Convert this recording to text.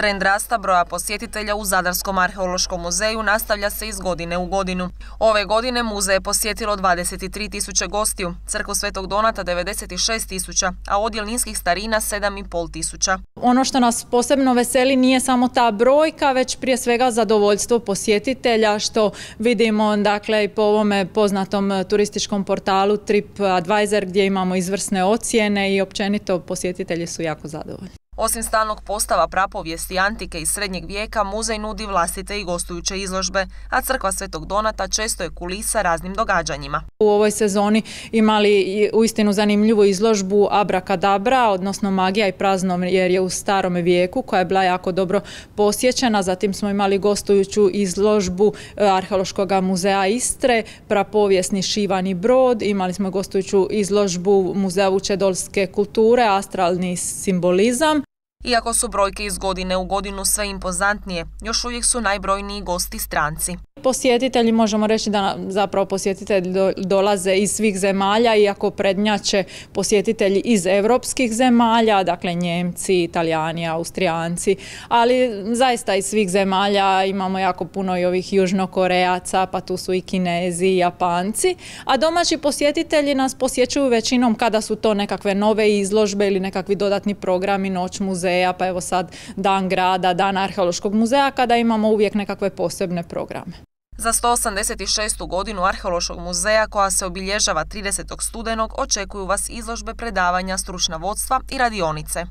Trend rasta broja posjetitelja u Zadarskom arheološkom muzeju nastavlja se iz godine u godinu. Ove godine muzej je posjetilo 23.000 gostiju, crkvu Svetog Donata 96.000, a odjel ninskih starina 7.500. Ono što nas posebno veseli nije samo ta brojka, već prije svega zadovoljstvo posjetitelja, što vidimo dakle i po ovome poznatom turističkom portalu TripAdvisor, gdje imamo izvrsne ocjene i općenito posjetitelji su jako zadovoljni. Osim stalnog postava prapovijesti antike i srednjeg vijeka, muzej nudi vlastite i gostujuće izložbe, a crkva Svetog Donata često je kulisa raznim događanjima. U ovoj sezoni imali uistinu zanimljivu izložbu Abrakadabra, odnosno magija i praznovjerje u starom vijeku, koja je bila jako dobro posjećena. Zatim smo imali gostujuću izložbu Arheološkog muzeja Istre, prapovijesni šivani brod. Imali smo gostujuću izložbu Muzeja vučedolske kulture, astralni simbolizam. Iako su brojke iz godine u godinu sve impozantnije, još uvijek su najbrojniji gosti stranci. Posjetitelji, možemo reći da zapravo posjetitelji dolaze iz svih zemalja, iako prednjače posjetitelji iz europskih zemalja, dakle Njemci, Italijani, Austrijanci, ali zaista iz svih zemalja imamo jako puno i ovih Južnokorejaca, pa tu su i Kinezi i Japanci, a domaći posjetitelji nas posjećuju većinom kada su to nekakve nove izložbe ili nekakvi dodatni programi, noć muzeja, pa evo sad dan grada, dan arheološkog muzeja, kada imamo uvijek nekakve posebne programe. Za 186. godinu Arheološkog muzeja, koja se obilježava 30. studenog, očekuju vas izložbe, predavanja, stručna vodstva i radionice.